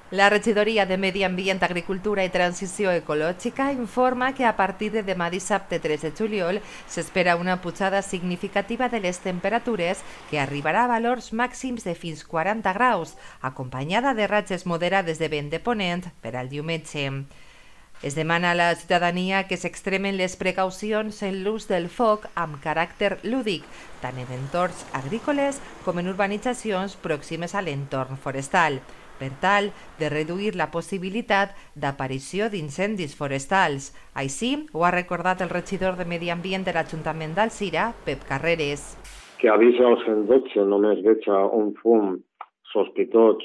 La regidoria de Medi Ambient, Agricultura i Transició Ecològica informa que a partir de demà dissabte 3 de juliol s'espera una pujada significativa de les temperatures que arribarà a valors màxims de fins 40 graus, acompanyada de ratxes moderades de vent de ponent per al diumenge. Es demana a la ciutadania que s'extremen les precaucions en l'ús del foc amb caràcter lúdic, tant en entorns agrícoles com en urbanitzacions pròximes a l'entorn forestal, per tal de reduir la possibilitat d'aparició d'incendis forestals. Així ho ha recordat el regidor de Medi Ambient de l'Ajuntament d'Alzira, Pep Carreres. Que avisa al 112 només veig un fum sospitós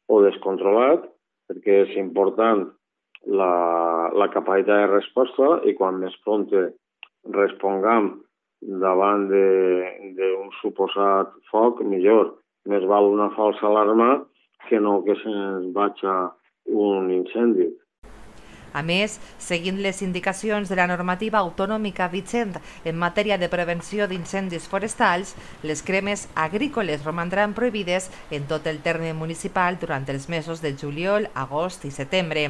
o descontrolat, perquè és important la capacitat de resposta i quan més prompte respongam davant d'un suposat foc, millor. Més val una falsa alarma que no que se'ns vagi un incendi. A més, seguint les indicacions de la normativa autonòmica vigent en matèria de prevenció d'incendis forestals, les cremes agrícoles romandran prohibides en tot el terme municipal durant els mesos de juliol, agost i setembre.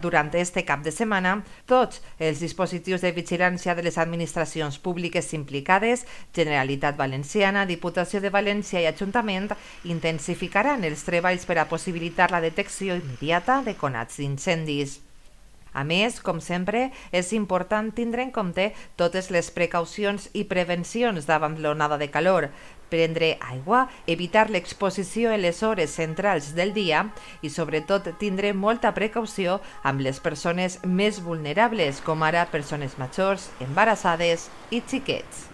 Durant este cap de setmana, tots els dispositius de vigilància de les administracions públiques implicades, Generalitat Valenciana, Diputació de València i Ajuntament, intensificaran els treballs per a possibilitar la detecció immediata de conats d'incendis. A més, com sempre, és important tindre en compte totes les precaucions i prevencions davant l'onada de calor, prendre aigua, evitar l'exposició en les hores centrals del dia i, sobretot, tindre molta precaució amb les persones més vulnerables, com ara persones majors, embarassades i xiquets.